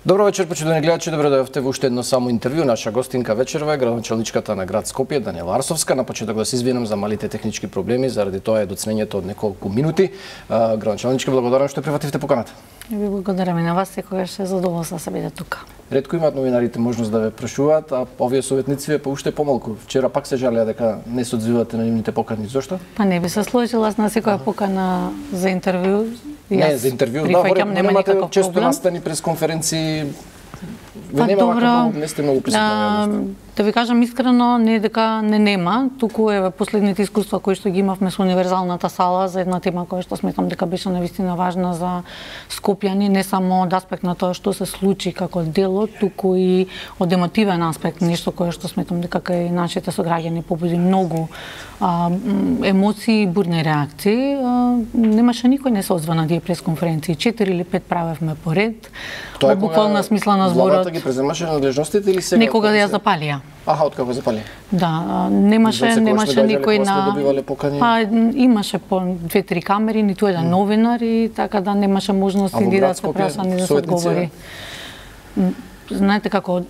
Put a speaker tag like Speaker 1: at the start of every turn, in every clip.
Speaker 1: Добро вечер, почитувани гледачи, добро дојдовте во уште едно само интервју. Наша гостинка вечерва е градоначалничката на град Скопје, Даниела Арсовска. На почеток да се извинам за малите технички проблеми, заради тоа е доцнењето од неколку минути. Градоначалничка, благодарам што прифативте поканата.
Speaker 2: Ви благодарам и на вас, секогаш е задоволство да се биде тука.
Speaker 1: Ретко имаат новинарите можност да ве прашуваат, а овие советници ве уште помалку. Вчера пак се жалеа дека не се одзивате на нивните покани. Зошто?
Speaker 2: Па не би се сложила на секоја покана за интервју.
Speaker 1: Не, за интервју, да, немате често настани пресконференции. Ве нема како не сте многу присутни.
Speaker 2: Да ви кажам искрено, не дека не нема, туку е последните искуства кои што ги имавме со универзалната сала за една тема која што сметам дека беше навистина важна за скопјани, не само од аспект на тоа што се случи како дело, туку и од емотивен аспект, нешто кое што сметам дека кај нашите сограѓани побуди многу емоции и бурни реакции. Немаше никој не се озваа на тие пресконференции, 4 или 5 правевме поред.
Speaker 1: Тоа е
Speaker 2: буквална смисла на зборот.
Speaker 1: Владата ги преземаше надлежностите или сега?
Speaker 2: Некога ја запалија.
Speaker 1: Аха, откако запали?
Speaker 2: Да, немаше никој на... Па имаше по 2-3 камери, ниту еден новинар и така да немаше можност и да се прашани да се одговори. Знаете како,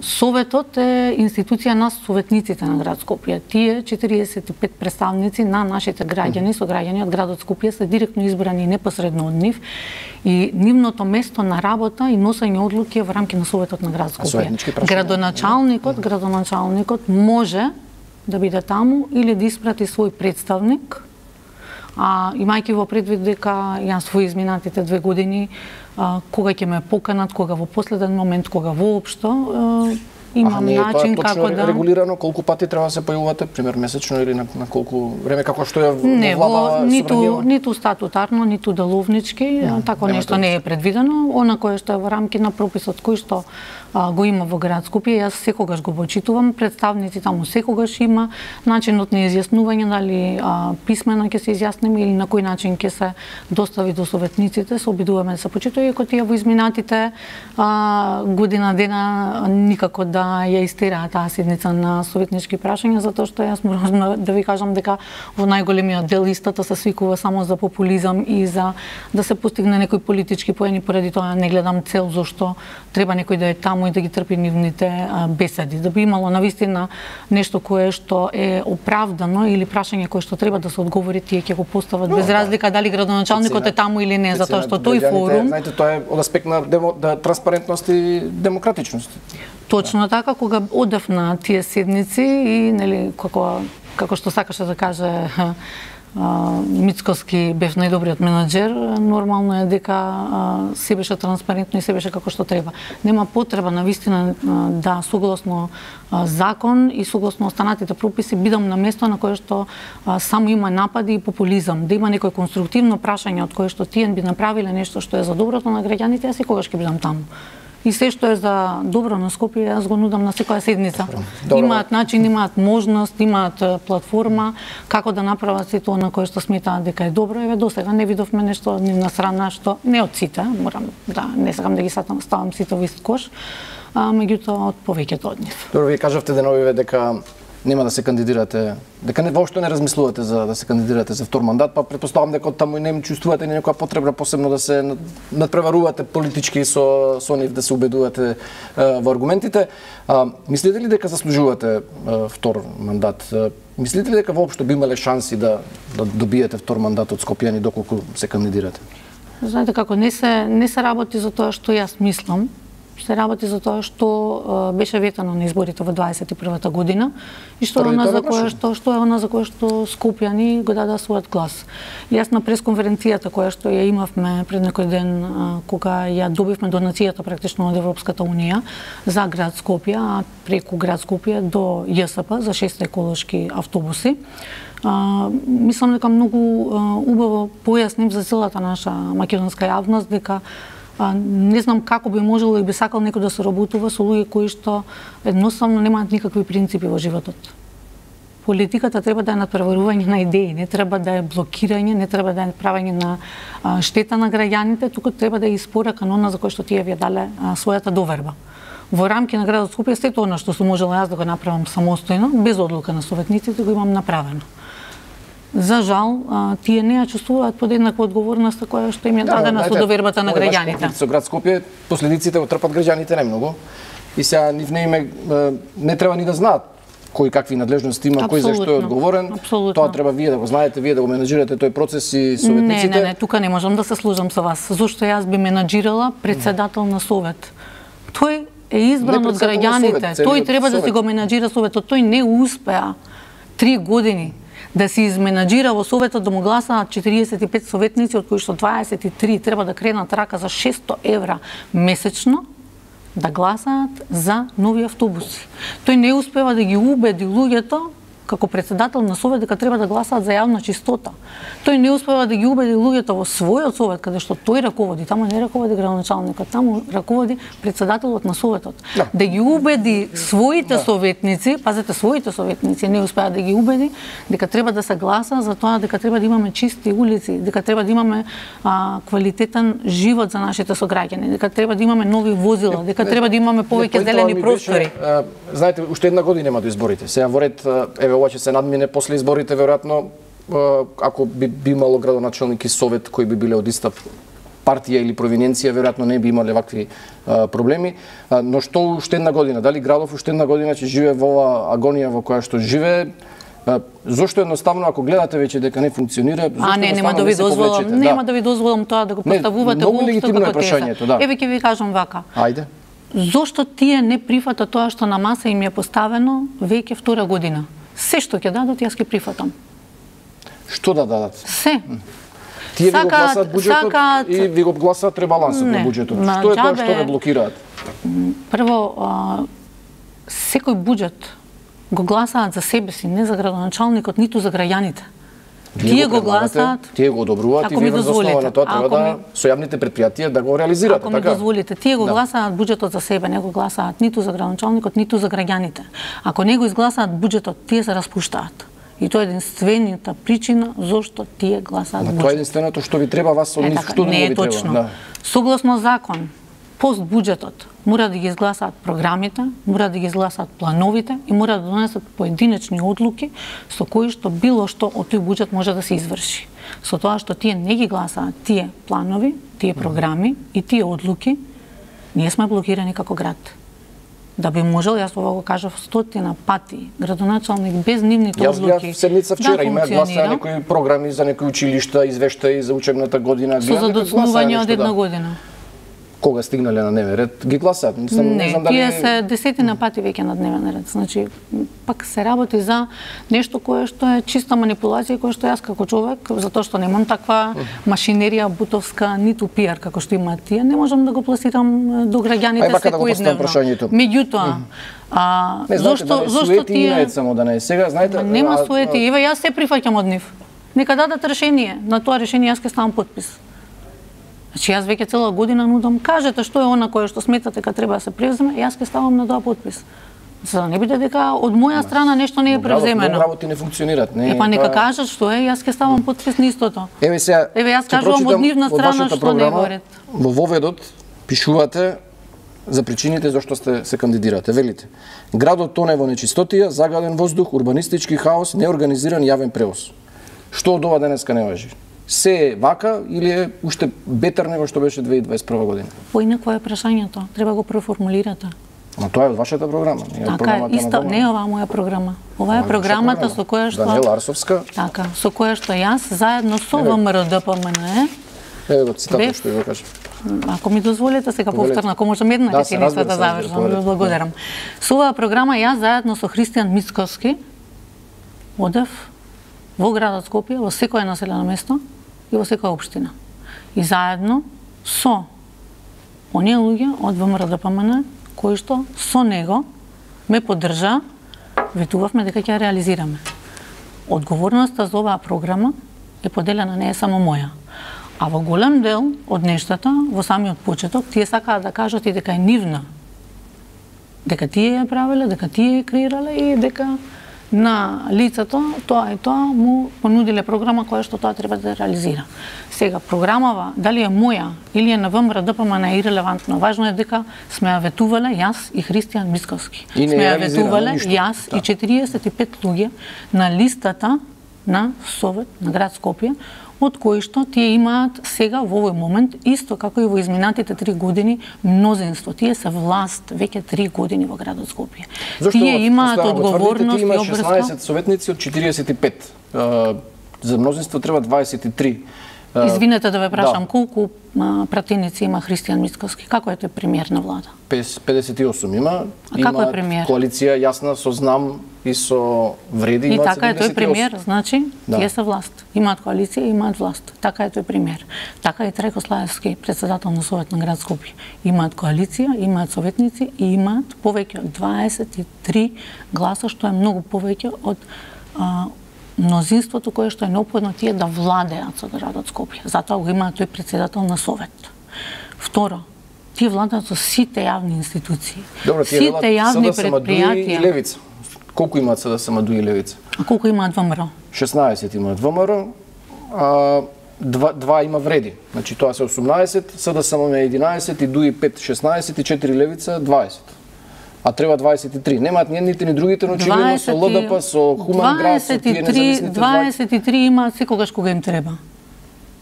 Speaker 2: Советот е институција на советниците на град Скопје. Тие 45 представници на нашите граѓани, сограѓани од градот Скопје се директно избрани непосредно од нив и нивното место на работа и носење одлуки е во рамки на Советот на град Скопје. Градоначалникот може да биде таму или да испрати свој представник, имајќи во предвид дека јас во изминатите 2 години кога ќе ме поканат, кога во последен момент, кога воопшто, имам начин како да...
Speaker 1: регулирано, колку пати треба да се појавувате, пример месечно или на колку време, како што е во влада собранијава?
Speaker 2: Ниту статутарно, ниту деловнички, тако нешто не е предвидено. Она кое што е во рамки на прописот кој што го има во град Скопје, јас секогаш го почитувам, представници таму секогаш има, начинот на изјаснување, дали писмено ќе се изјасниме или на кој начин ќе се достави до советниците, се обидуваме да се почитува, иако тие во изминатите година дена никако да ја истераа таа седница на советнички прашања, затоа што јас морам да ви кажам дека во најголемиот дел истата се свикува само за популизам и за да се постигне некои политички поени, поради тоа не гледам цел зошто треба некој да е таму и да ги трпи нивните беседи. Да би имало навистина нешто кое што е оправдано или прашање кое што треба да се одговори, тие ќе го постават без разлика дали градоначалникот е таму или не, затоа што тој форум...
Speaker 1: Знаете, тоа е од аспект на транспарентност и демократичност.
Speaker 2: Точно така, кога одев на тие седници и нели како што сакаше да каже Мицкоски бев најдобриот менаџер, нормално е дека се беше транспарентно и се беше како што треба. Нема потреба навистина да согласно закон и согласно останатите прописи бидам на место на кое што само има напади и популизам, да има некој конструктивно прашање од кое што тие би направиле нешто што е за доброто на граѓаните, јас секогаш ќе бидам таму. И се што е за добро на Скопје, јас го нудам на секоја седница. Имаат начин, имаат можност, имаат платформа како да направат сето она кое што сметаат дека е добро. Еве досега не видовме нешто од нивна страна што не од сите, морам да не сакам да ги ставам сите во ист кош, меѓутоа од повеќето од нив.
Speaker 1: Добро, вие кажавте деновиве дека нема да се кандидирате, дека воопшто не размислувате за да се кандидирате за втор мандат, па претпоставам дека таму не чувствувате ни некоја потреба посебно да се надпреварувате политички со нив, да се убедувате во аргументите. Мислите ли дека заслужувате втор мандат? Мислите ли дека воопшто би имале шанси да добиете втор мандат од скопјани доколку се кандидирате?
Speaker 2: Знаете како, не се работи за тоа што јас мислам, се работи за тоа што беше ветано на изборите во 21-та година и што е она за кое што скопјани го дадоа својот глас. Јас на пресконференцијата која што ја имавме пред некој ден кога ја добивме донацијата практично од Европската унија за град Скопје, а преку град Скопје до ЈСП за 6 еколошки автобуси, мислам дека многу убаво појасним за целата наша македонска јавност дека не знам како би можело и би сакал некој да се работува со луѓе кои што едноставно немаат никакви принципи во животот. Политиката треба да е надпреварување на идеи, не треба да е блокирање, не треба да е правење на штета на граѓаните, туку треба да е испорака на она за кој што тие ви дале својата доверба. Во рамки на градот Скопје сето она што сум можела јас да го направам самостојно, без одлука на советниците, го имам направено. за жал, тие не ја чувствуваат подеднаква одговорност која што им е дадена со довербата на граѓаните.
Speaker 1: Со град Скопје последиците го трпат граѓаните немногу и сега нив не треба ни да знаат кои какви надлежности има, кој за што е одговорен. Тоа треба вие да го знаете, вие да го менаџирате тој процес и советниците.
Speaker 2: Не, тука не можам да се служам со вас. Зошто јас би менаџирала председател на совет? Тој е избран од граѓаните. Тој треба да си го менаџира советот. Тој не успеа 3 години да се изменаџира во советот, да му гласаат 45 советници, од кои што 23 треба да кренат рака за 600 евра месечно, да гласаат за нови автобуси. Тој не успева да ги убеди луѓето како председател на совет дека треба да гласаат за јавна чистота. Тој не успева да ги убеди луѓето во својот совет, каде што тој раководи, таму не раководи градоначалникот, таму раководи председателот на советот. Да ги убеди своите советници, пазете, своите советници не успеа да ги убеди дека треба да се гласа за тоа дека треба да имаме чисти улици, дека треба да имаме квалитетен живот за нашите сограѓани, дека треба да имаме нови возила, дека треба да имаме повеќе зелени простори.
Speaker 1: Знаете, уште една година има до изборите. Сега во ред, еве ова ќе се надмине после изборите, веројатно, ако би имало градоначалник и совет кои би биле од иста партија или провиненција, веројатно не би имале вакви проблеми. Но што уште една година? Дали градов уште една година ќе живее во ова агонија во која што живее? Зошто едноставно, ако гледате веќе дека не функционира, зошто
Speaker 2: нема да ви дозволам, нема да ви дозволам тоа да го поставувате
Speaker 1: воопшто како теза.
Speaker 2: Еве ќе ви кажам вака.
Speaker 1: Ајде.
Speaker 2: Зошто тие не прифатат тоа што на маса им е поставено веќе 2 година? Се што ќе дадат, јас ќе прифатам.
Speaker 1: Што да дадат?
Speaker 2: Се.
Speaker 1: Тие ви го гласаат буџетот и ви го гласаат ребалансот на буџетот. Што е тоа што ве блокираат?
Speaker 2: Прво, секој буџет го гласаат за себе си, не за градоначалникот, ниту за граѓаните. Тие го гласаат,
Speaker 1: тие го одобруваат и вие врз основа на тоа треба да со јавните предпријатија да го реализирате, така?
Speaker 2: Ако ми дозволите, тие го гласаат буџетот за себе, не го гласаат ниту за градоначалникот, ниту за граѓаните. Ако не го изгласаат буџетот, тие се распуштаат. И тоа е единствената причина зошто тие гласаат буџет.
Speaker 1: Тоа е единственото што ви треба вас од нив, што не ви треба.
Speaker 2: Согласно закон, пост буџетот мора да ги изгласаат програмите, мора да ги изгласаат плановите и мора да донесат поединечни одлуки со кои што било што од тој буџет може да се изврши. Со тоа што тие не ги гласаат тие планови, тие програми и тие одлуки, ние сме блокирани како град. Да би можел, јас ова го кажав 100 пати, градоначалник без нивните одлуки.
Speaker 1: Јас седмица вчера имаат гласа некои програми за некои училишта, извештаи за учебната година.
Speaker 2: Со задоцнување од една година.
Speaker 1: Кога стигнале на дневен ред, ги гласаат.
Speaker 2: Не, тие се 10 пати веќе на дневен ред. Значи, пак се работи за нешто кое што е чиста манипулација, кое што јас како човек, затоа што немам таква машинерија бутовска, ниту пиар како што имаат тие, не можам да го пласирам до граѓаните секојдневно. Меѓутоа, зошто тие
Speaker 1: само да не е сега, знаете,
Speaker 2: нема суети, еве јас се прифаќам од нив. Нека дадат решение, на тоа решение јас ќе ставам подпис. Значи, јас веќе цела година нудам, кажете што е она кое што сметате дека треба да се превземе, јас ќе ставам на тоа подпис. За да не биде дека од моја страна нешто не е превземено.
Speaker 1: Работи не функционираат.
Speaker 2: Па нека кажат што е, јас ќе ставам подпис на истото.
Speaker 1: Еве сега,
Speaker 2: јас кажувам од нивна страна што не е во ред.
Speaker 1: Во воведот пишувате за причините зашто се кандидирате. Велите: градот тоне во нечистотија, загаден воздух, урбанистички хаос, неорганизиран јавен превоз. Што од ова денеска не важи? Се е вака или е уште бетер него што беше 2021 година?
Speaker 2: Поинакво е прашањето, треба го преформулирате.
Speaker 1: Но тоа е од вашата програма, не е програмата
Speaker 2: на Дома. Не е оваа моја програма. Ова е програмата со која што
Speaker 1: Даниела Арсовска.
Speaker 2: Така, со која што јас заедно со ВМРО-ДПМНЕ.
Speaker 1: Еве го цитатот што го кажа.
Speaker 2: Ако ми дозволите сега повторно, ако можам една реченица да завршам, ви благодарам. Со оваа програма јас заедно со Христијан Мицковски одев во градот Скопје, во секое населено место и во секоја општина. И заедно со оние луѓе од ВМРО-ДПМН кои што со него ме поддржа, ветувавме дека ќе ја реализираме. Одговорноста за оваа програма е поделена, не е само моја. А во голем дел од нештата, во самиот почеток, тие сакаат да кажат и дека е нивна. Дека тие ја правеле, дека тие ја креирале и дека на лицето тоа и тоа му понудиле програма која што тоа треба да реализира. Сега, програмава, дали е моја или е на ВМРО-ДПМН е ирелевантно. Важно е дека сме ја ветувале јас и Христијан Мицковски. Сме ја ветувале јас и 45 луѓе на листата на Совет на град Скопје, од кои што тие имаат сега во овој момент, исто како и во изминатите 3 години, мнозинство. Тие се власт веќе 3 години во градот Скопје. Тие имаат одговорност и обврска.
Speaker 1: Има 16 советници од 45. За мнозинство треба 23.
Speaker 2: Извинете да ве прашам, колку пратеници има Христијан Мицкоски? Како е тој премиер на влада?
Speaker 1: 58 има.
Speaker 2: А како е премиер?
Speaker 1: Коалиција јасна со знам и со вреди.
Speaker 2: И така е тој премиер, значи, тие се власт. Имаат коалиција, имаат власт. Така е тој премиер. Така и Трајко Славевски, председател на Совет на град Скопје. Имаат коалиција, имаат советници и имаат повеќе од 23 гласа, што е многу повеќе од мнозинството кое што е неопходно тие да владеат со градот Скопје. Затоа го имаат тој председател на Совет. Второ, тие владеат со сите јавни институции.
Speaker 1: Добро,
Speaker 2: сите јавни предпријатија.
Speaker 1: И Левица. Колку имаат СДСМ и Левица?
Speaker 2: А колку имаат ВМРО?
Speaker 1: 16 имаат ВМРО, а два има вреди. Значи тоа се 18, СДСМ е 11 и ДУИ 5 16 и 4 Левица 20. А треба 23. Немаат ни едните ни другите, но очигледно со ЛДП, со Хуман град, со тие независните
Speaker 2: 23 имаат секогаш кога им треба.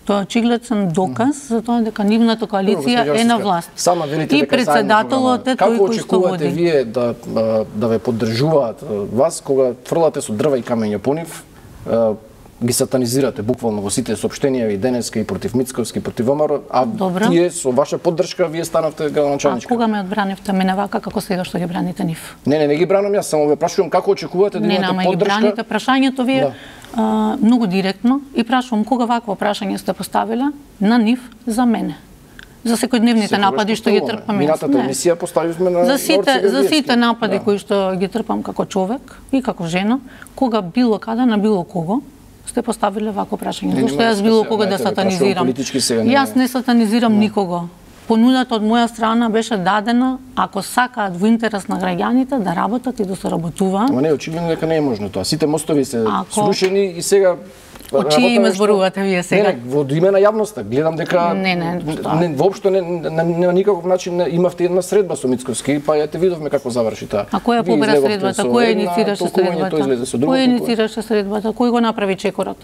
Speaker 2: Тоа е очигледен доказ за тоа дека нивната коалиција е на власт.
Speaker 1: Сама велите
Speaker 2: и
Speaker 1: дека
Speaker 2: председателот е тој кој што води.
Speaker 1: Како очекувате вие да ве поддржуваат вас кога фрлате со дрва и камења по нив, ги сатанизирате буквално во сите соопштенија и денеска и против Мицковски, против ВМРО, а тие со ваша поддршка вие станавте градоначалничка.
Speaker 2: А кога ме одбранивте мене вака како сега што ги браните нив?
Speaker 1: Не ги бранам јас, само ве прашувам како очекувате да имате поддршка.
Speaker 2: Не, ги браните прашањето вие многу директно и прашувам кога вакво прашање сте поставиле на нив за мене. За секојдневните напади што ги трпам јас.
Speaker 1: Минатата емисија поставивме на
Speaker 2: за сите напади кои што ги трпам како човек и како жена, кога било каде на било кого сте поставиле вако прашање. Зошто јас било кога да сатанизирам? Јас не сатанизирам никого. Понудата од моја страна беше дадена, ако сакаат во интерес на граѓаните да работат и да се работуваат.
Speaker 1: Ама не, очигледно дека не е можно тоа. Сите мостови се срушени и сега
Speaker 2: Од чие име зборувате вие сега?
Speaker 1: Не, во име на јавноста. Гледам дека воопшто на никаков начин имавте една средба со Мицковски, па ете видовме како заврши таа.
Speaker 2: А која побера средбата? Кој инициираше средбата? Кој инициираше средбата? Кој го направи чекорот?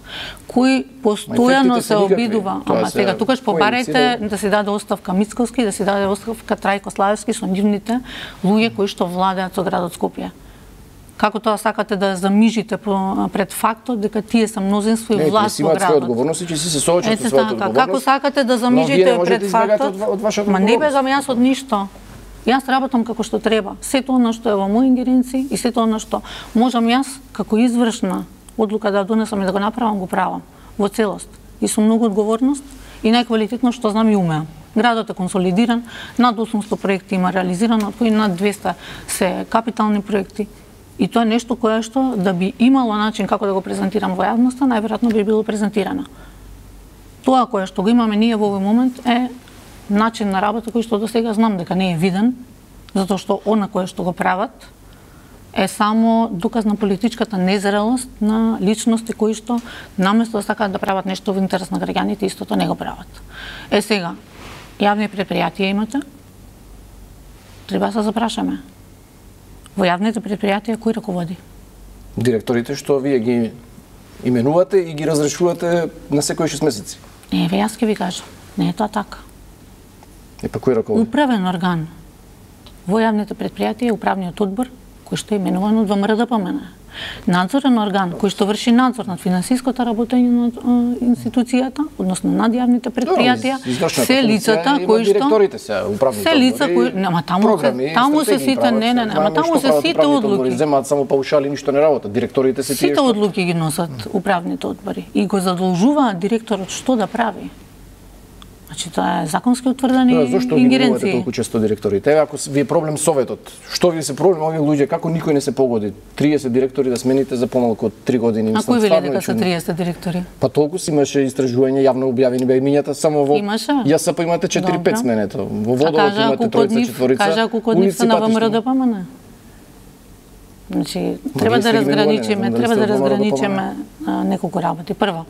Speaker 2: Кој постојано се обидува? Ама сега tukаш побарете да си даде оставка Мицковски, да си даде оставка Трајко Славевски со нивните луѓе кои што владеат со градот Скопје. Како тоа сакате да замижите пред фактот дека тие се мнозинство и власт во градот?
Speaker 1: Одговорност и че си се соочат со својата одговорност.
Speaker 2: Како сакате да замижите пред фактот? Ма не бегам јас од ништо. Јас работам како што треба. Сето она што е во мои ингеренции и сето она што можам јас како извршна одлука да донесам и да го направам, го правам во целост. И со многу одговорност и најквалитетно што знам и умеам. Градот е консолидиран, над 800 проекти има реализирано, од кои над 200 се капитални проекти. И тоа е нешто кое што да би имало начин како да го презентирам во јавноста, најверојатно би било презентирано. Тоа кое што го имаме ние во овој момент е начин на работа кој што до сега знам дека не е виден, затоа што она кое што го прават е само доказ на политичката незрелост на личности кои што наместо да сакаат да прават нешто во интерес на граѓаните, истото не го прават. Сега, јавни предпријатија имате? Треба да се запрашаме. Во јавните предпријатија кој раководи?
Speaker 1: Директорите што вие ги именувате и ги разрешувате на секои 6 месеци.
Speaker 2: Не, јас ќе ви кажам, не е тоа така.
Speaker 1: Па кој раководи?
Speaker 2: Управен орган во јавните предпријатија е управниот одбор кој што е именуван од ВМРО-ДПМН. Надзорен орган кој што врши надзор над финансиското работење на институцијата, односно над јавните предпријатија, се лицата кои што
Speaker 1: директорите се управните
Speaker 2: се лица кои, ама таму се сите ама таму се сите одлуки.
Speaker 1: Земаат само паушали, ништо не работат. Директорите се тие
Speaker 2: сите одлуки ги носат управните одбори и го задолжуваат директорот што да прави. Значи тоа е законски утврдени ингеренции.
Speaker 1: Зошто ги именувате толку често директорите? Ако ви е проблем советот, што ви се проблем овие луѓе, како никој не се погоди? 30 директори да смените за помалку од 3 години.
Speaker 2: А кој вели дека се 30 директори?
Speaker 1: Па толку си имаше истражување, јавно објавени беа имињата само во ЈСП имате 4-5 сменето. Во Водолот имате 3-4.
Speaker 2: Кажа ако код нив се на ВМРО-ДПМН. Значи треба да разграничиме неколку работи. Прво,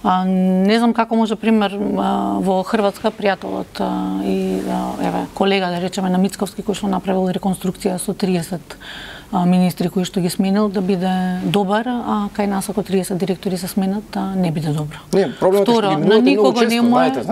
Speaker 2: Не знам како може пример во Хрватска пријателот и колега да речеме на Мицковски кој што направил реконструкција со 30 министри кои што ги сменил да биде добар, а кај нас ако 30 директори се сменат не биде добро.
Speaker 1: Не, проблемот е што ги
Speaker 2: на никого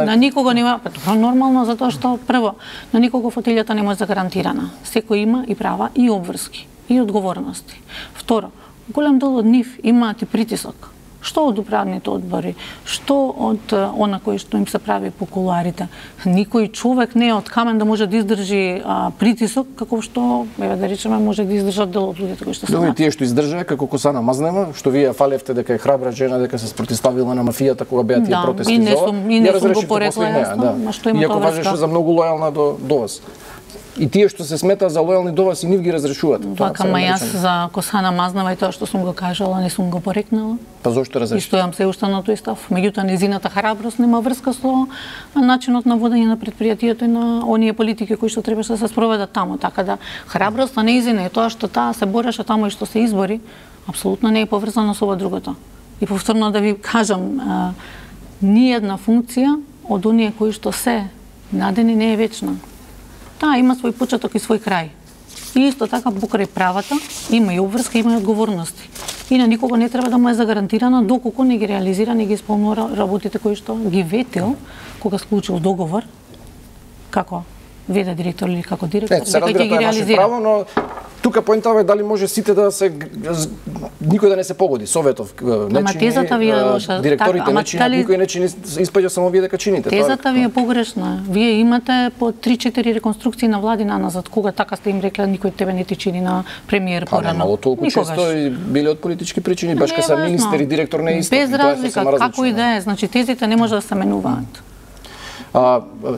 Speaker 1: на
Speaker 2: никого нема, нормално затоа што прво на никого фотилјата не може загарантирана. Секој има и права и обврски и одговорности. Второ, голем дел од нив имаат и притисок. Што од управните одбори, што од она кој што им се прави по кулуарите. Никој човек не е од камен да може да издржи притисок, како што, да речеме, може да издржат дел од луѓето кои што се.
Speaker 1: Добре, тие што издржаа, како Косана Мазнева, што вие фалевте дека е храбра жена, дека се спротивставила на мафијата кога беа тие протести
Speaker 2: за ова. И не сум го порекла јасно, што има
Speaker 1: тоа врска. Иако важеше за многу лојална до вас. И тие што се сметаа за лојални до вас и нив ги разрешувате.
Speaker 2: Вака, јас за Косана Мазнева и тоа што сум го кажала, не сум го порекнала.
Speaker 1: Па зошто разрешите?
Speaker 2: И стојам се уште на тој став. Меѓутоа, незината храброст нема врска со начинот на водење на претпријатието и на оние политики кои што требаше да се спроведат таму. Така да, храброста неизина и тоа што таа се бореше таму и што се избори, апсолутно не е поврзано со ова другото. И повторно да ви кажам, ниедна функција од оние кои што се надени не е вечна. Таа има свој почеток и свој крај. И исто така покрај правата има и обврска, има и одговорности. И на никого не треба да му е загарантирано доколку не ги реализира, не ги исполнува работите кои што ги ветил кога склучил договор како веде директор или како директор,
Speaker 1: дека ќе ги реализира. Право, но тука поентава е дали може сите да се никој да не се погоди, Советов не чини, директорите не чинат, никој не чини, испаѓа само вие дека чините.
Speaker 2: Тезата ви е погрешна. Вие имате по 3-4 реконструкции на влади назад, кога така сте им рекле никој тебе не ти чини на премиер порано.
Speaker 1: Немало толку често и биле од политички причини, баш кога се министер и директор не е исто.
Speaker 2: Без разлика, како и да е, значи тезите не може да се менуваат.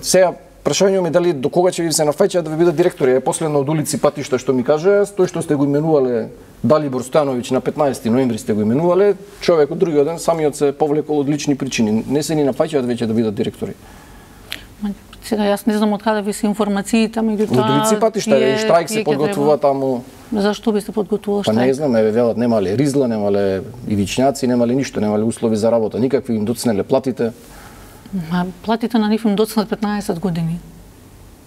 Speaker 1: Сега прашањето ми дали до кога ќе ви се нафаќаат да ви бидат директори. Е последно од улици патишта што ми каже, тој што сте го именувале Далибор Стојановиќ на 15 ноември сте го именувале, човекот другиот ден самиот се повлекол од лични причини. Не се ни нафаќаат веќе да бидат директори.
Speaker 2: Сега јас не знам од каде ви се информациите, меѓутоа
Speaker 1: од улици патишта и штрајк се подготвува таму.
Speaker 2: Зашто би се подготвувал штрајк?
Speaker 1: Па не знам, еве велат немале ризла, немале ивичњаци, немале ништо, немале услови за работа, никакви им доцнеле платите.
Speaker 2: Платите на нив им доцнат 15 години.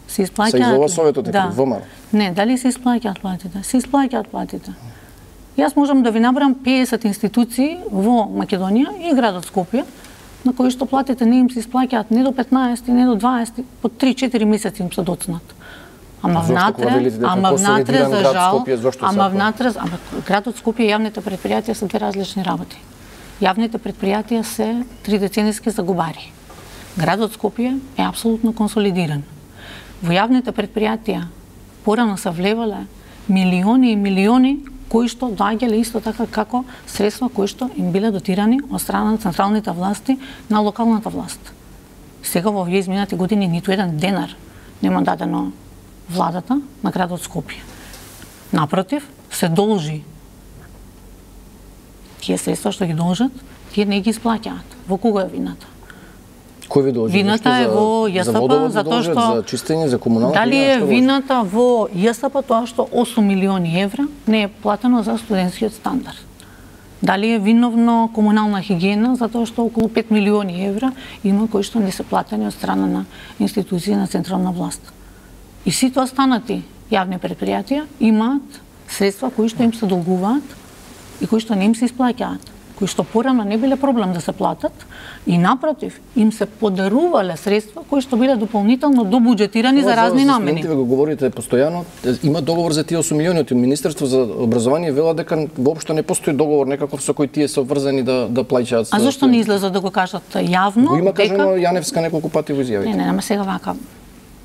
Speaker 2: Се исплаќаат.
Speaker 1: Се излова Советот е ВМРО.
Speaker 2: Не, дали се исплаќаат платите? Се исплаќаат платите. Јас можам да ви набрам 50 институции во Македонија и градот Скопје на кои што платите не им се исплаќаат не до 15, не до 20, по 3-4 месеци им се доцнат. Ама внатре за жал, градот Скопје и јавните предпријатија се две различни работи. Јавните предпријатија се 3 деценијски загубари. Градот Скопје е апсолутно консолидиран. Во јавните предпријатија порано се влевале милиони и милиони кои што доаѓале исто така како средства кои што им биле дотирани од страна на централните власти на локалната власт. Сега во овие изминати години ниту еден денар нема дадено владата на градот Скопје. Напротив, се должи. Тие средства што ги должат, тие не ги исплаќаат. Во кого е вината?
Speaker 1: Кој ви должи?
Speaker 2: Вината е во ЈСП, затоа што
Speaker 1: за чистење, за комунална.
Speaker 2: Дали е вината во ЈСП тоа што 8 милиони евра не е платено за студентскиот стандард? Дали е виновно комунална хигиена затоа што околу 5 милиони евра има кои што не се платени од страна на институции на централна власт? И сите останати јавни предпријатија имаат средства кои што им се долгуваат и кои што не им се исплаќаат, кои што порано не биле проблем да се платат и напротив им се подарувале средства кои што биле дополнително добуџетирани за разни намени.
Speaker 1: Вие го говорите постојано, има договор за тие 8 милиони од Министерство за образование, вела дека воопшто не постои договор некаков со кој тие се обврзани да плаќаат.
Speaker 2: А зашто не излеза да го кажат јавно?
Speaker 1: Го има кажано Јаневска неколку пати во изјавите.
Speaker 2: Не, сега вака.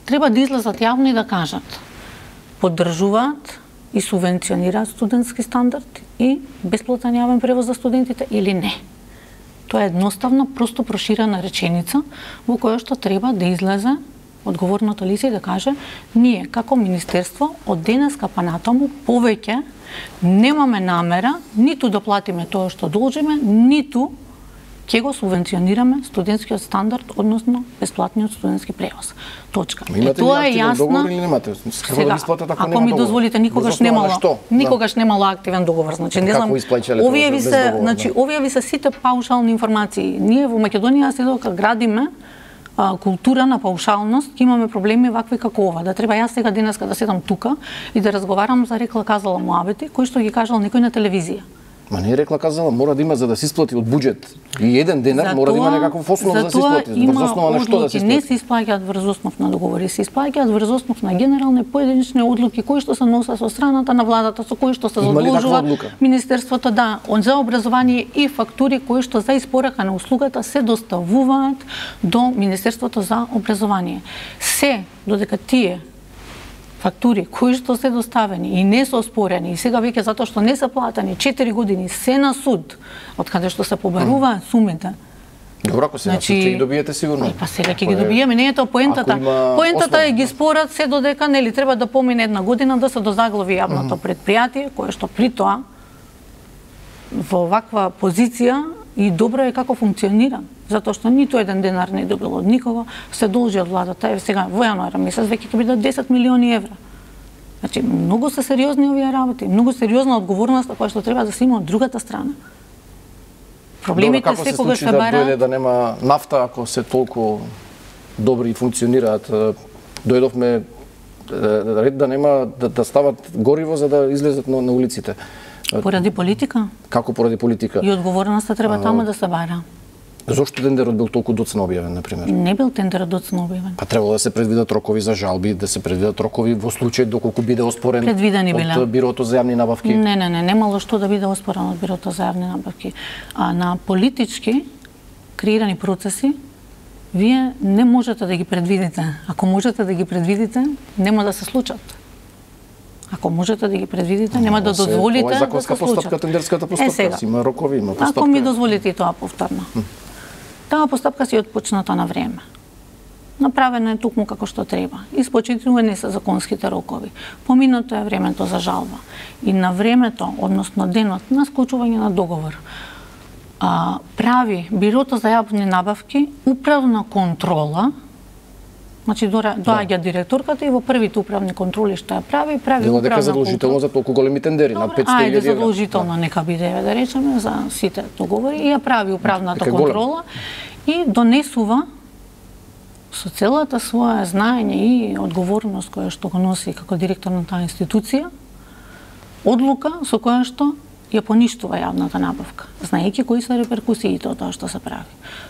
Speaker 2: Треба да излезат јавно и да кажат поддржуваат и субвенционираат студентски стандард и бесплатен јавен превоз за студентите или не. Тоа е едноставна, просто проширена реченица во која што треба да излезе одговорното лице и да каже ние како министерство од денеска па натаму повеќе немаме намера ниту да платиме тоа што должиме, ниту ќе го субвенционираме студентскиот стандард, односно бесплатниот студентски превоз. Точка.
Speaker 1: Тоа е јасно. Договор или немате?
Speaker 2: Сега, ако ми дозволите, никогаш немало активен договор. Значи не знам, овие ви се сите паушални информации. Ние во Македонија се додека градиме култура на паушалност, ќе имаме проблеми вакви како ова. Да треба јас сега денеска да седам тука и да разговарам за рекла казала муабети, кој што ги кажал некој на телевизија.
Speaker 1: Ма не е рекла казала, мора да има за да се исплати од буџет. И еден денар мора да има некаков основ да се исплати. Врз основа на што да се исплати?
Speaker 2: Не се исплаќаат врз основ на договори, се исплаќаат врз основ на генерални поединечни одлуки кои што се носат со страната на владата, со кои што се задолжува Министерството за образование и фактури кои што за испорака на услугата се доставуваат до Министерството за образование. Се додека тие фактури кои што се доставени и не се оспорени и сега веќе затоа што не се платени 4 години се на суд од каде што се побаруваат сумите.
Speaker 1: Добро, ако се на суд ќе ги добиете сигурно.
Speaker 2: Па сега ќе ги добиеме, не е тоа поентата. Поентата е ги спорат се додека нели треба да помине една година да се дозаглави јавното предпријатие, кое што при тоа во ваква позиција и добро е како функционира, затоа што ниту еден денар не добил од никого, се должи од владата. Сега во јануар месец веќе ќе бидат 10 милиони евра. Значи многу се сериозни овие работи, многу сериозна одговорност која што треба да се има од другата страна. Проблемите секогаш се бараат.
Speaker 1: Дојде да нема нафта ако се толку добри и функционираат. Дојдовме ред да нема да стават гориво за да излезат на улиците.
Speaker 2: Поради политика?
Speaker 1: Како поради политика?
Speaker 2: И одговорноста треба таму да се бара.
Speaker 1: Зошто тендерот бил толку доцна објавен, например?
Speaker 2: Не бил тендерот доцна објавен.
Speaker 1: Па требало да се предвидат рокови за жалби, да се предвидат рокови во случај доколку биде оспорен од Бирото за јавни набавки.
Speaker 2: Не, немало што да биде оспорен од Бирото за јавни набавки. А на политички креирани процеси вие не можете да ги предвидите. Ако можете да ги предвидите, нема да се случат. Ако можете да ги предвидите, нема да дозволите да се случат.
Speaker 1: Ова е законска постапка, тендерската постапка, има рокови, има постапка.
Speaker 2: Ако ми дозволите и тоа повторно. Таа постапка си отпочната на време. Направена е токму како што треба. Испочитувани се законските рокови. Поминато е времето за жалба. И на времето, односно денот на склучување на договор, прави Бирото за јавни набавки управна контрола. Значи доаѓа директорката и во првите управни контроли што ја прави управна контрола.
Speaker 1: Дека задолжително за толку големи тендери на 500.000 евра.
Speaker 2: Ајде задолжително нека биде, да речеме, за сите договори и ја прави управната контрола и донесува со целата своја знаење и одговорност која што го носи како директор на таа институција, одлука со која што ја поништува јавната набавка, знаејќи кои се реперкусиите од тоа што се прави.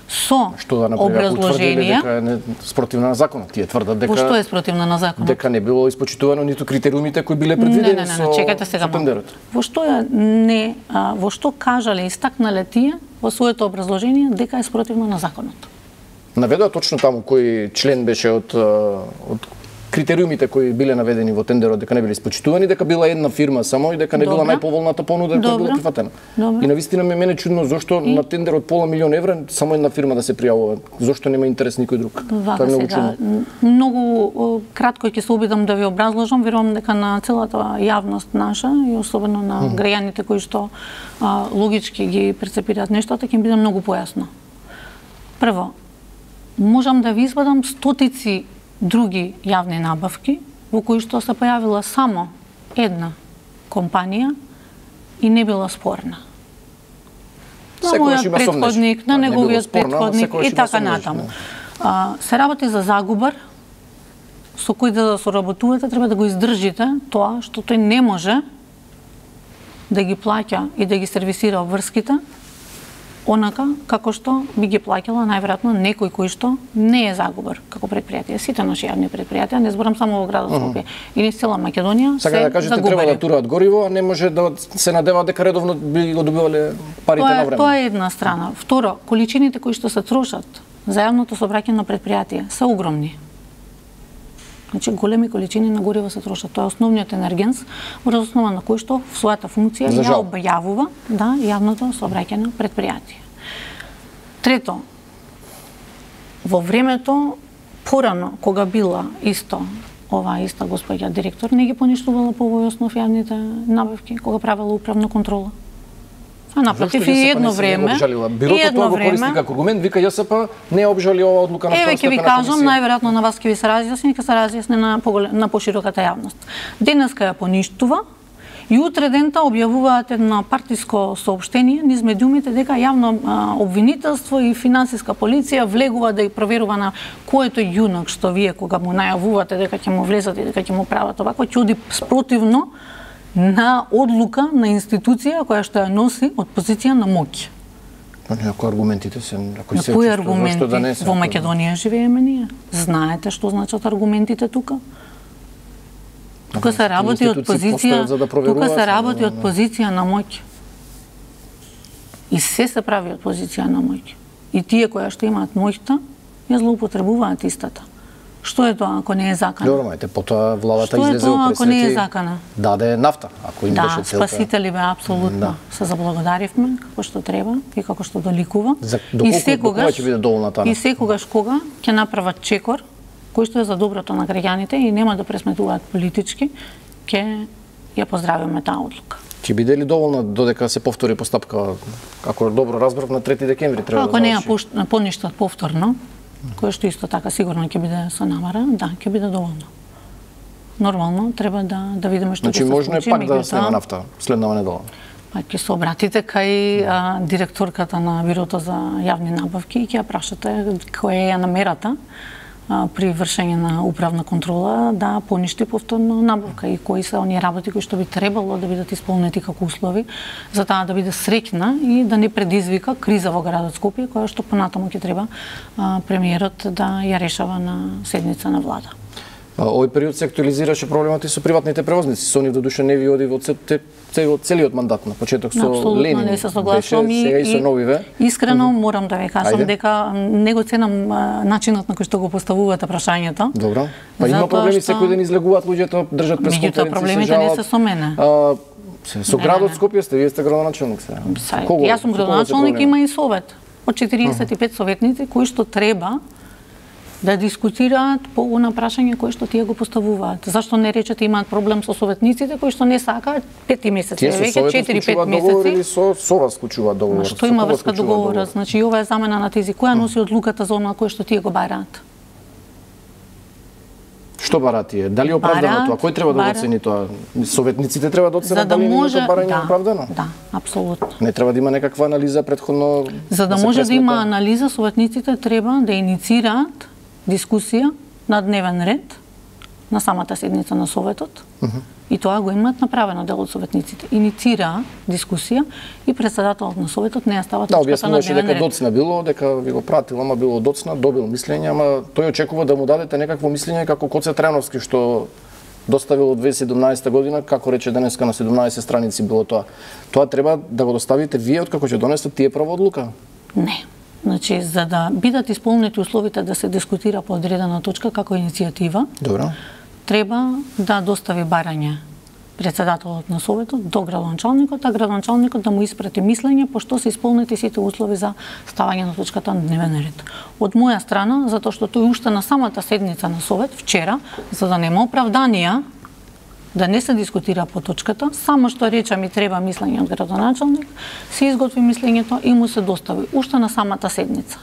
Speaker 2: Со образложенија
Speaker 1: дека е спротивна на законот. Тие тврдат дека
Speaker 2: што е спротивна на законот?
Speaker 1: Дека не било испочитувано ниту критериумите кои биле предвидени со
Speaker 2: чекайте сега
Speaker 1: тендерот.
Speaker 2: Во што кажале, истакнале тие во своето образложение дека е спротивно на законот?
Speaker 1: Наведоа точно таму кој член беше од критериумите кои биле наведени во тендерот, дека не биле испочитувани, дека била една фирма само и дека не била најповолната понуда која била прифатена. И навистина мене чудно зошто на тендерот пола милион евра само една фирма да се пријавува. Зошто нема интерес никој друг? Тоа е многу чудно.
Speaker 2: Многу кратко ќе се обидам да ви образложам, верувам дека на целата јавност наша и особено на граѓаните кои што логички ги перцепираат нештата ќе им биде многу појасно. Прво, можам да ви извадам стотици други јавни набавки во кои што се појавила само една компанија и не била спорна. На мојот претходник, на неговиот претходник и така натаму. Се работи за загубар со кој да соработувате, треба да го издржите тоа што тој не може да ги плаќа и да ги сервисира обврските онака како што би ги плаќала најверојатно некој кој што не е загубар како предпријатие. Сите наши јавни предпријатија, не зборам само во градот Скопје, или цела Македонија, се
Speaker 1: да кажете треба да тураат гориво, а не може да се надеваат дека редовно би го добивале парите на време.
Speaker 2: Тоа е една страна. Второ, количините кои што се трошат за јавното сообраќајно предпријатие се огромни. Значи големи количини на гориво се трошат. Тоа е основниот енергенс врз основа на кој што в својата функција ја објавува јавното сообраќајно предпријатие. Трето, во времето порано кога била оваа иста господја директор не ги поништувала по овој основ јавните набавки кога правела управна контрола. Напротив, и едно време,
Speaker 1: Бирото тоа го користи како аргумент, вика JSP не обжали оваа одлука на
Speaker 2: второстепена комисија. Еве ќе ви кажам, најверојатно на вас ќе ви се разјасни, ќе се разјасни на пошироката јавност. Денеска ја поништува и утре дента објавуваат едно партиско соопштение низ медиумите дека јавно обвинителство и финансиска полиција влегува да ја проверува на което јунак што вие кога му најавувате дека ќе му влезат и дека ќе му прават овако, ќе оди спротивно на одлука на институција која што ја носи од позиција на моќ.
Speaker 1: Кои аргументите се?
Speaker 2: Кои аргументи? Во Македонија живееме ние. Знаете што значат аргументите тука? Тука се работи од позиција, тука се работи од позиција на моќ. И се прави од позиција на моќ. И тие кои што имаат моќта, ја злоупотребуваат истата. Што е тоа ако не е закана?
Speaker 1: Добро, мајте, потоа владата излезе во пресвети.
Speaker 2: Што е тоа ако не е закана?
Speaker 1: Даде нафта, ако им беше целта.
Speaker 2: Да, спасители бе апсолутно. Се заблагодаривме како што треба и како што доликува.
Speaker 1: И секогаш ќе биде доволна таа.
Speaker 2: И секогаш кога ќе направат чекор кој што е за доброто на граѓаните и нема да пресметуваат политички, ќе ја поздравиме таа одлука.
Speaker 1: Ќе биде ли доволна додека се повтори постапка, како добро разбрав, на 3 декември треба
Speaker 2: да заврши? Ако не ја поништат повторно, кој што исто така сигурно ќе биде со намара, да, ќе биде доволно. Нормално треба да видиме што ќе се случи.
Speaker 1: Значи можно е пак да снема нафта следнава недела.
Speaker 2: Па ќе се обратите кај директорката на Бирото за јавни набавки и ќе ја прашате која е намерата при вршење на управна контрола да поништи повторно набавка и кои се оние работи кои што би требало да бидат исполнети како услови за таа да биде среќна и да не предизвика криза во градот Скопје која што понатаму ќе треба премиерот да ја решава на седница на влада.
Speaker 1: Овој период се актуализираше проблемот и со приватните превозници. Со нив додуше не ви оди во целиот мандат, на почеток со Ленин.
Speaker 2: Не се согласувам
Speaker 1: и со новиве.
Speaker 2: Искрено морам да ви кажам дека не го ценам начинот на кој што го поставувате прашањето.
Speaker 1: Добро. Па има проблеми, секој ден излегуваат луѓето, држат пресконференции, се
Speaker 2: проблемите не се со мене.
Speaker 1: Со градот Скопје вие сте градоначалник сега.
Speaker 2: Јас сум градоначалник, има и совет од 45 советници кои што треба да дискутираат по она прашање кој што тие го поставуваат. Зашто не речете имаат проблем со советниците кои што не сакаат 5 месеци, веќе 4-5 месеци.
Speaker 1: Или со вас склучуваат договор?
Speaker 2: Што има врска договора? Значи ова е замена на тези која носи одлуката за она кој што тие го бараат.
Speaker 1: Што бараат тие? Дали е оправдано тоа? Кој треба да го оцени тоа? Советниците треба да оценат дали нивното барање е оправдано?
Speaker 2: Да, апсолутно.
Speaker 1: Не треба да има некаква анализа претходно.
Speaker 2: За да може да има анализа, советниците треба да иницираат дискусија на дневен ред на самата седница на Советот. И тоа го имаат направено дел од советниците. Иницираа дискусија и председателот на Советот не ја става точката на дневен ред.
Speaker 1: Дека доцна било, дека ви го пратил, ама било доцна, добил мислење, ама тој очекува да му дадете некакво мислење како Коце Трановски што доставил од 2017 година, како рече денеска на 17 страници било тоа. Тоа треба да го доставите вие откако ќе донесете тие прва одлука?
Speaker 2: Не. Значи, за да бидат исполнети условите да се дискутира по одредена точка како иницијатива,
Speaker 1: добро,
Speaker 2: треба да достави барање председателот на Советот до градоначалникот, а градоначалникот да му испрати мислење по што се исполнети сите услови за ставање на точката на дневен ред. Од моја страна, затоа што тој уште на самата седница на Совет вчера, за да нема оправданија да не се дискутира по точката, само што рече ми треба мислење од градоначалник, се изготви мислењето и му се достави уште на самата седница.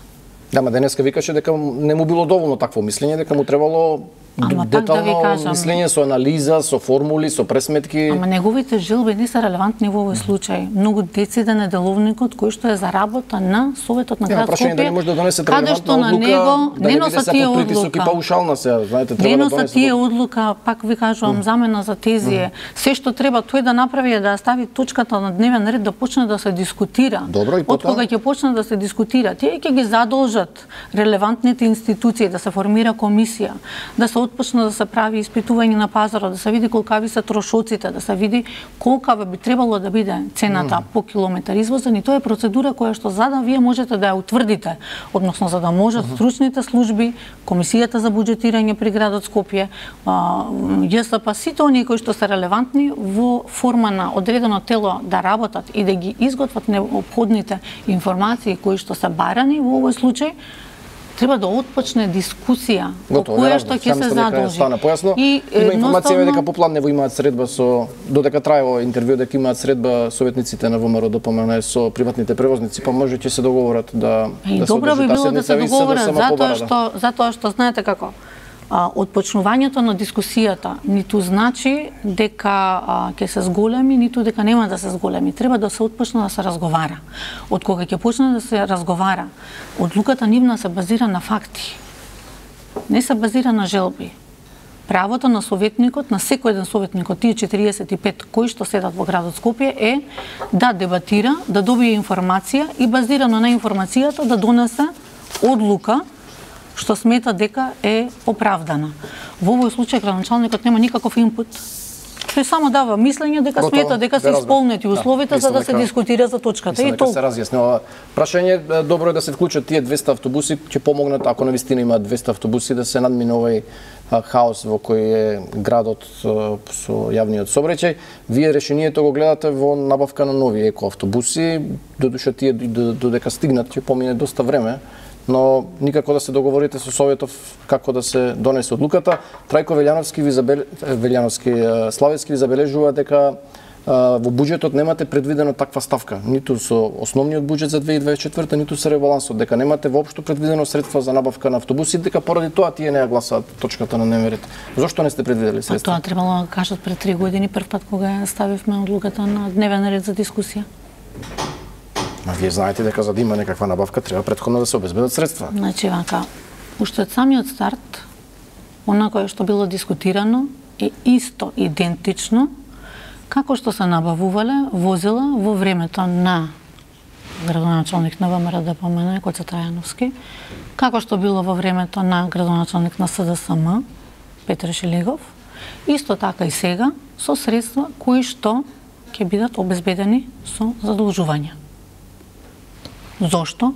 Speaker 1: Да, ма денеска викаше дека не му било доволно такво мислење, дека му требало детално мислење со анализа, со формули, со пресметки.
Speaker 2: Ама неговите желби не се релевантни во овој случај. Многу дециден е деловникот кој што е за работа на Советот на град Скопје.
Speaker 1: Дали може да донесе релевантна одлука,
Speaker 2: не носат тие одлука.
Speaker 1: Паушална се, знаете,
Speaker 2: треба да донесе тие одлука, пак ви кажувам, замена за тези. Се што треба тој да направи е да стави точката на дневен ред да почне да се дискутира.
Speaker 1: Добро, и
Speaker 2: од кога ќе почне да се дискутира, тие ќе ги задолжат релевантните институции да се формира комисија, да се отпочна да се прави испитување на пазарот, да се види колкави се трошоците, да се види колкава би требало да биде цената по километар извозен, и тоа е процедура која што за да вие можете да ја утврдите, односно за да можат стручните служби, комисијата за буџетирање при градот Скопје, JSP, сите оние кои што се релевантни во форма на одредено тело да работат и да ги изготват необходните информации кои што се барани во овој случај, треба да отпочне дискусија по која што ќе се задолжи.
Speaker 1: И има информација дека попладнево имаат средба со додека трае овој интервју, дека имаат средба советниците на ВМРО ДПМН со приватните превозници, па може ќе се договорат да
Speaker 2: се добро би било да се договорат затоа што знаете како отпочнувањето на дискусијата ниту значи дека ќе се зголеми, ниту дека нема да се зголеми. Треба да се отпочне да се разговара. Од кога ќе почне да се разговара, одлуката нивна се базира на факти. Не се базира на желби. Правото на советникот, на секој еден советник од тие 45 кои што седат во градот Скопје е да дебатира, да добие информација и базирано на информацијата да донесе одлука што смета дека е оправдана. Во овој случај градоначалникот нема никаков инпут. Тој само дава мислење дека смета дека се исполнети условите за да се дискутира за точката.
Speaker 1: И тоа се разјаснува. Прашање добро е да се вклучат тие 200 автобуси, ќе помогнат ако навистина имаат 200 автобуси да се надмине овој хаос во кој е градот со јавниот сообраќај. Вие решението го гледате во набавка на нови екоавтобуси, додуша тие додека стигнат ќе помине доста време, но никако да се договорите со Советов како да се донесе одлуката. Трајко Славецки ви забележува дека во буџетот немате предвидено таква ставка, ниту со основниот буџет за 2024, ниту со ребалансот, дека немате воопшто предвидено средства за набавка на автобуси, дека поради тоа тие не ја гласаат точката на дневен ред. Зошто не сте предвидели средства?
Speaker 2: Тоа требало да кажат пред 3 години, прв пат кога ја ставивме одлуката на дневен ред за дискусија.
Speaker 1: А вие знаете дека за да има некаква набавка треба претходно да се обезбедат средства.
Speaker 2: Значи вака, уште од самиот старт, она кое што било дискутирано е исто идентично како што се набавувале возила во времето на градоначалник на ВМРО ДПМН Коце Трајановски, како што било во времето на градоначалник на СДСМ Петре Шелегов, исто така и сега со средства кои што ќе бидат обезбедени со задолжувања. Зошто?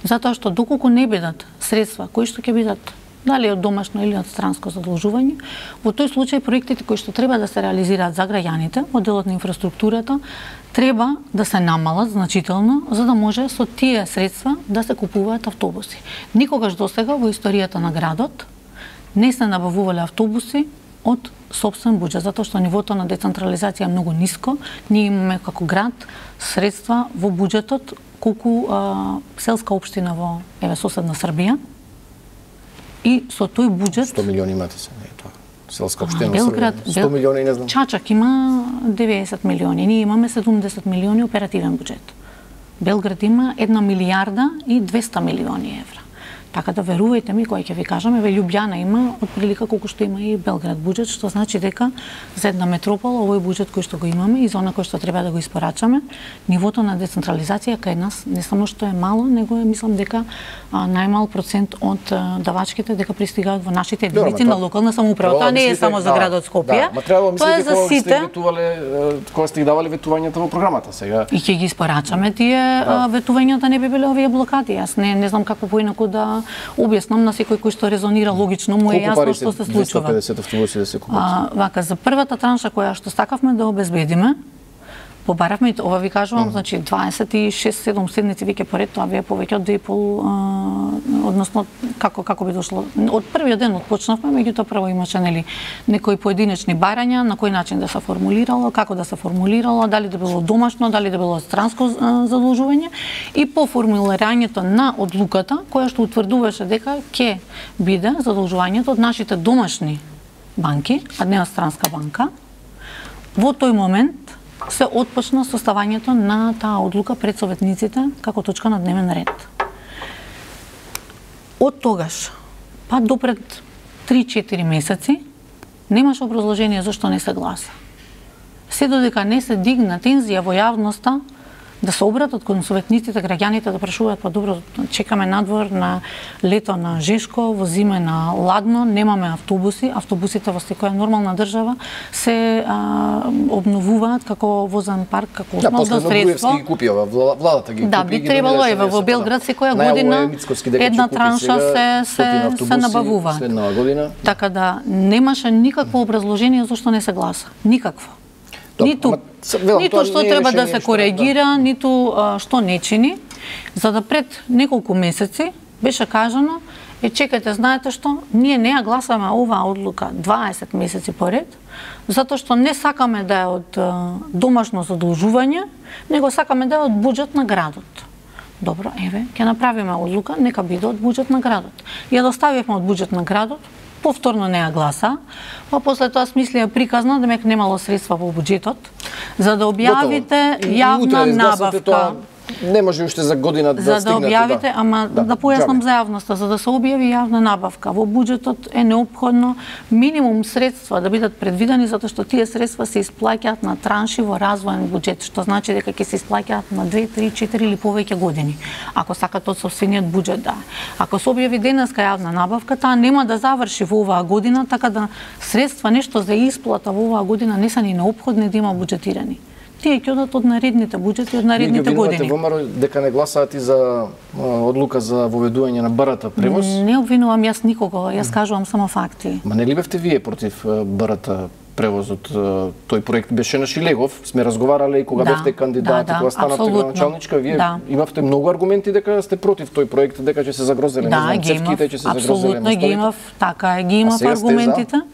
Speaker 2: Затоа што доколку не бидат средства кои што ќе бидат дали од домашно или од странско задолжување, во тој случај проектите кои што треба да се реализираат за граѓаните, од делот на инфраструктурата, треба да се намалат значително, за да може со тие средства да се купуваат автобуси. Никогаш досега во историјата на градот не се набавувале автобуси од сопствен буџет, затоа што нивото на децентрализација е многу ниско. Ние имаме како град средства во буџетот колку селска општина во соседна Србија. И со тој буџет
Speaker 1: 100 милиони имате се, не е тоа. Селска општина Белград, 100 милиони не знам.
Speaker 2: Чачак има 90 милиони, ние имаме 70 милиони оперативен буџет. Белград има 1 милијарда и 200 милиони евра. Така да верувајте ми, кога ќе ви кажаме, Лјубљана има отприлика колку што има и Белград буџет, што значи дека за една метропола овој буџет кој што го имаме и за она кој што треба да го испорачаме, нивото на децентрализација кај нас не само што е мало, него е мислам дека најмал процент од давачките дека пристигаат во нашите единици на локална самоуправа. Тоа не е само за градот Скопје. Тоа е за сите.
Speaker 1: Кога сте ги давале ветувањата во програмата сега.
Speaker 2: И ќе ги испорачаме тие ветувањата, не би биле овие блокади. Јас не знам како поинаку да објаснам на секој кој што резонира логично, му е јасно што се случува.
Speaker 1: 250 автобуси да се купат.
Speaker 2: Вака, за првата транша која што сакавме да обезбедиме, побаравме, ова ви кажувам, значи 26-7 седмици веќе поред, тоа вие повеќе од 2,5, односно како би дошло. Од првиот ден отпочнавме, меѓутоа прво имаше некои поединечни барања, на кој начин да се формулирало, како да се формулирало, дали да било домашно, дали да било странско задолжување, и по формулирањето на одлуката, која што утврдуваше дека ќе биде задолжувањето од нашите домашни банки, а не од странска банка, во тој момент се отпочна составањето на таа одлука пред советниците како точка на дневен ред. Од тогаш, па до пред 3-4 месеци, немаше образложение зашто не се гласа. Се додека не се дигна тензија во јавноста, да се обратат кон советниците, граѓаните да прашуваат, па добро, чекаме надвор на лето на Жешко, во зима на ладно, немаме автобуси, автобусите во секоја нормална држава се обновуваат како возен парк, како основно средство.
Speaker 1: Буевски ги купи ова, владата ги купи.
Speaker 2: Да, би требало во Белград секоја година една транша се набавува.
Speaker 1: Следнава година.
Speaker 2: Така да немаше никакво образложение зашто не се гласа, никакво. Ниту што треба да се коригира, ниту што не чини, за да пред неколку месеци беше кажано, чекајте, знаете што, ние не ја гласаме оваа одлука 20 месеци поред, затоа што не сакаме да е од домашно задолжување, него сакаме да е од буџет на градот. Добро, еве, ќе направиме одлука, нека биде од буџет на градот. Ја доставивме од буџет на градот, повторно не ја гласа, па после тоа смислија приказна, демек немало средства во буџетот, за да објавите јавна набавка.
Speaker 1: Не може уште за година да стигнете.
Speaker 2: За да објавите, ама да појаснам за јавноста, за да се објави јавна набавка, во буџетот е неопходно минимум средства да бидат предвидени, затоа што тие средства се исплаќаат на транши во развоен буџет, што значи дека ќе се исплаќаат на 2, 3, 4 или повеќе години. Ако сакате од сопствениот буџет, да. Ако се објави денеска јавна набавка, таа нема да заврши во оваа година, така да средства нешто за исплата во оваа година не се ни неопходни да има буџетирани. Тие ќе одат од наредните буџети, од наредните години.
Speaker 1: Вие ВМРО дека не гласаат и за одлука за воведување на БРТ превоз?
Speaker 2: Не обвинувам јас никого, јас кажувам само факти.
Speaker 1: Ма не ли бевте вие против БРТ превозот? Тој проект беше на Шилегов, сме разговарале и кога бевте кандидат, кога станавте градоначалничка, вие имавте многу аргументи дека сте против тој проект, дека ќе се загрозеле цевките, ќе се загрозеле
Speaker 2: апсолутно ги имав, така е, ги имав аргументите.